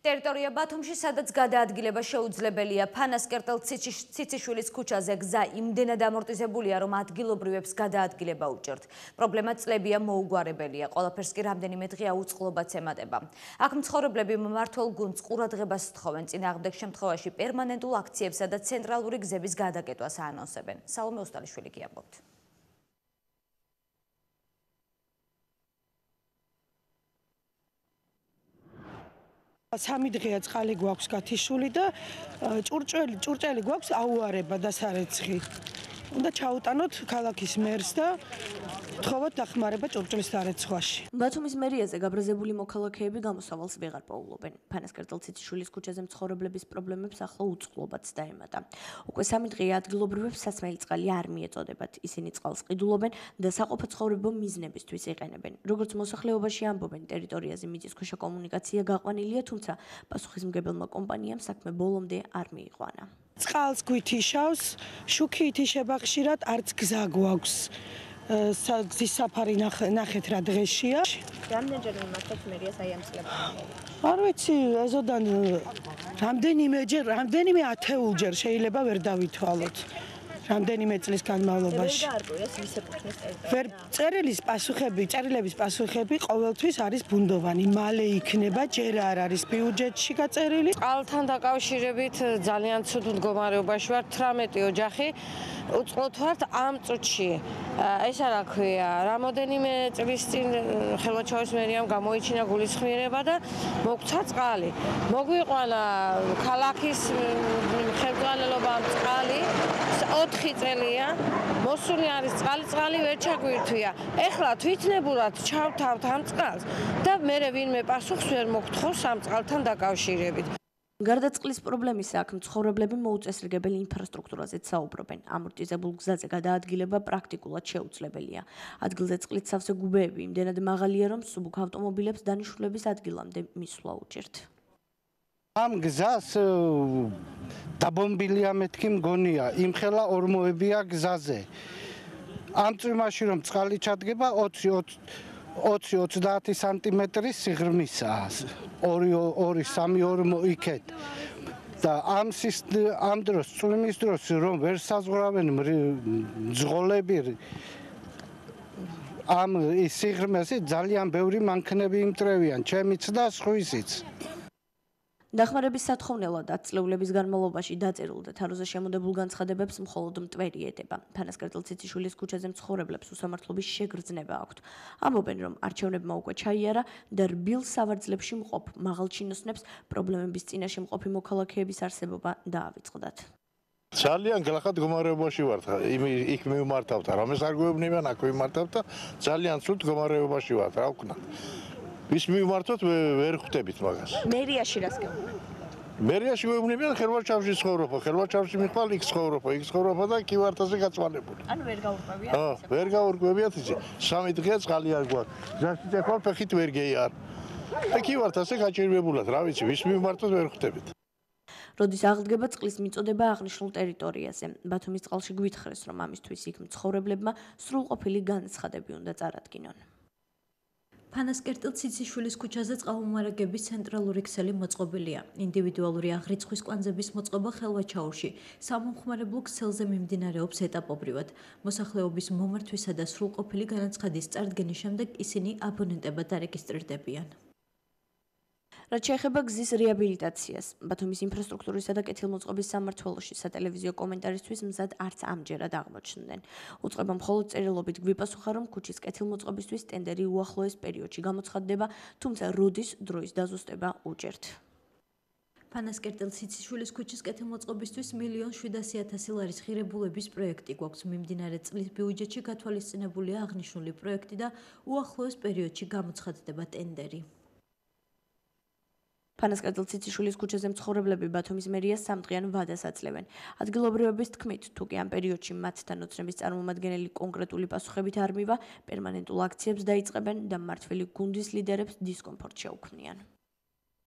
ტერიტორია ბათუმში, სადაც გადაადგილება შეუძლებელია. ფანასკერტელ ციციშვილის ქუჩაზე გზა იმდენად ამორტიზებულია, რომ ადგილობრივებს გადაადგილება უჭერთ. პრობლემა წლებია მოუგვარებელია. ყველაფერს კი რამდენიმე დღე აუწყლობაც ემატება. აქ მცხოვრებლები მმართველ გუნდს ყურადღებას სთხოვენ. წინააღმდეგ შემთხვევაში პერმანენტულ აქციებსა და ცენტრალური გზების გადაკეტვას აანონსებენ. სალომე ოსტალიშვილი გიამბობთ. სამი დღეა წყალი გვაქვს გათიშული და ჭურჭელი გვაქვს აუარება და სარეცხი. უნდა ჩაუტანოთ ქალაქის მერს და ვთხოვოთ დახმარება ჭურჭლის სარეცხვაში. ბათუმის მერიაზე გაბრაზებული მოქალაქეები გამოსავალს ვეღარ პოულობენ. ფანასკერტელ ციციშვილის ქუჩაზე მცხოვრებლების პრობლემებს ახლა უწყლობაც დაემატა. უკვე 3 დღეა ადგილობრივებს სასმელი წყალი არ მიეწოდებათ. ისინი წყალს ყიდულობენ და საყოფაცხოვრებო მიზნებისთვის იყენებენ. როგორც მოსახლეობაში ამბობენ, ტერიტორიაზე მიწისქვეშა კომუნიკაცია გაყვანილია, თუმცა პასუხისმგებელმა კომპანიამ საქმე ბოლომდე არ მიიყვანა. წყალს გვითიშავს, შუქი ითიშება ხშირად, არც გზა გვაქვს. გზის საფარი ნახეთ რა დღეშია. რამდენჯერ მიმართოთ მერიას აი ამ წლებთან? არ ვიცი, ეზოდან რამდენიმე ათეულჯერ შეიძლება ვერ დავითვალოთ. რამდენიმე წლის განმავლობაში. წერილების პასუხები ყოველთვის არის ბუნდოვანი. მალე იქნება, ჯერ არ არის ბიუჯეტში გაწერილი. წყალთან დაკავშირებით ძალიან ცუდ მდგომარეობაში ვართ. 18 ოჯახი უწყლოდ ვართ ამ წუთში. ესა რა ქვია, რამოდენიმე წლის წინ ხელვაჩავის მერიამ გამოიჩინა გულისხმიერება და მოგცა წყალი. მოგვიყვანა ქალაქის ხელმძღვანელობამ წყალი 4 წელია, მოსული არის წყალი ვერ ჩაგვირთვია. ეხლა თვითნებურად ჩავთავთ ამ წყალს და მერე ვინმე პასუხს ვერ მოგთხოვს ამ წყალთან დაკავშირებით. გარდა წყლის პრობლემისა, აქ მცხოვრებლები მოუწესრიგებელი ინფრასტრუქტურაზეც საუბრობენ. ამორტიზებულ გზაზე გადაადგილება პრაქტიკულად შეუძლებელია. ადგილზე წყლით სავსე გუბეები იმდენად მაღალია, რომ მსუბუქ ავტომობილებს დანიშნულების ადგილამდე მისვლა უჭერთ. ამ გზას დაბომბილია მეთქი მგონია, იმხელა ორმოებია გზაზე. ამ წვიმაში რომ წყალი ჩადგება 20-30 სანტიმეტრის სიღრმისაა. 2-3 ორმო იქეთ. და ამ დროს წვიმის დროს რომ ვერ საზღვრავენ მძღოლები ამ სიღრმეზე ძალიან ბევრი მანქანები იმტრევიან, ჩემიც და სხვისიც. დახმარების სათხოვნელად ათწლეულების განმავლობაში დაწერილ და თაროზე შემოდებულ განცხადებებს მხოლოდ მტვერი ეტება. ფანასკერტელ ციციშვილის ქუჩაზე მცხოვრებლებს უსამართლობის შეგრძნება აქვთ. ამბობენ, რომ არჩევნებმა უკვე ჩაიარა და რბილ სავარძლებში მყოფ მაღალჩინოსნებს პრობლემების წინაშე მყოფი მოქალაქეების არსებობა დაავიწყდათ. ძალიან გლახად მდგომარეობაში ვართ. იქ მივმართავთ, რამეს არ გვეუბნებიან, აქ ვიმართავთ და ძალიან ცუდ მდგომარეობაში ვართ, რა ვქნათ. ვის მივმართოთ ვერ ხვდებით მაგას. მერიაში რას გეუბნებიან? მერიაში გვეუბნებიან ხელვაჩავში ცხოვრობ, ხელვაჩავში მიხვალ იქ ცხოვრობ და კი ვართ ასე გაწმანებული. ანუ ვერ გაურკვევია? ვერ გაურკვევიათ ისე. 3 დღეა წყალი არ გვაქვს. გზაში წეხვალ ფეხით ვერ გეიარ. და კი ვართ ასე გაჭირვებულად, რა ვიცი, ვის მივმართოთ ვერ ხვდებით. როდის აღდგება წყლის მიწოდება აღნიშნულ ტერიტორიაზე. ბათუმის წყალში გვითხრეს, რომ ამისთვის იქ მცხოვრებლებმა სრულყოფილი განცხადები უნდა წარადგინონ. ფანასკერტელ ციციშვილის ქუჩაზე წყალმომარაგების ცენტრალური ქსელი მოწყობილია. ინდივიდუალური აღრიცხვის კვანძების მოწყობა ხელვაჩაურში სამომხმარებლო ქსელზე მიმდინარეობს ეტაპობრივად. მოსახლეობის მომართვისა და სრულყოფილი განაცხადის წარდგენის შემდეგ ისინი აბონენტებად დარეგისტრირდებიან. რაც შეეხება გზის რეაბილიტაციას, ბათუმის ინფრასტრუქტურისა და კეთილმოწყობის სამმართველოში სატელევიზიო კომენტარისთვის მზად არც ამჯერად აღმოჩნდნენ. უწყება მხოლოდ წერილობით გვიპასუხა, რომ ქუჩის კეთილმოწყობისთვის ტენდერი უახლოეს პერიოდში გამოცხადდება, თუმცა როდის დროის დაზუსტება უჭერთ. ფანასკერტელ ციციშვილის ქუჩის კეთილმოწყობისთვის 1,700,000 ლარის ღირებულების პროექტი გვაქვს. მიმდინარე წლის ბიუჯეტში გათვალისწინებულია აღნიშნული პროექტი და უახლოეს პერიოდში გამოცხადდება ტენდერი. ფანასკერტელ ციციშვილის ქუჩაზე მცხოვრებლები ბათუმის მერიას 3 დღიან ვადას აძლევენ. ადგილობრივების თქმით, თუ კი ამ პერიოდში მათთან ოცნების წარმომადგენელი კონკრეტული პასუხებით არ მივა, პერმანენტულ აქციებს დაიწყებენ და მმართველი გუნდის ლიდერებს დისკომფორტ შეუქმნიან.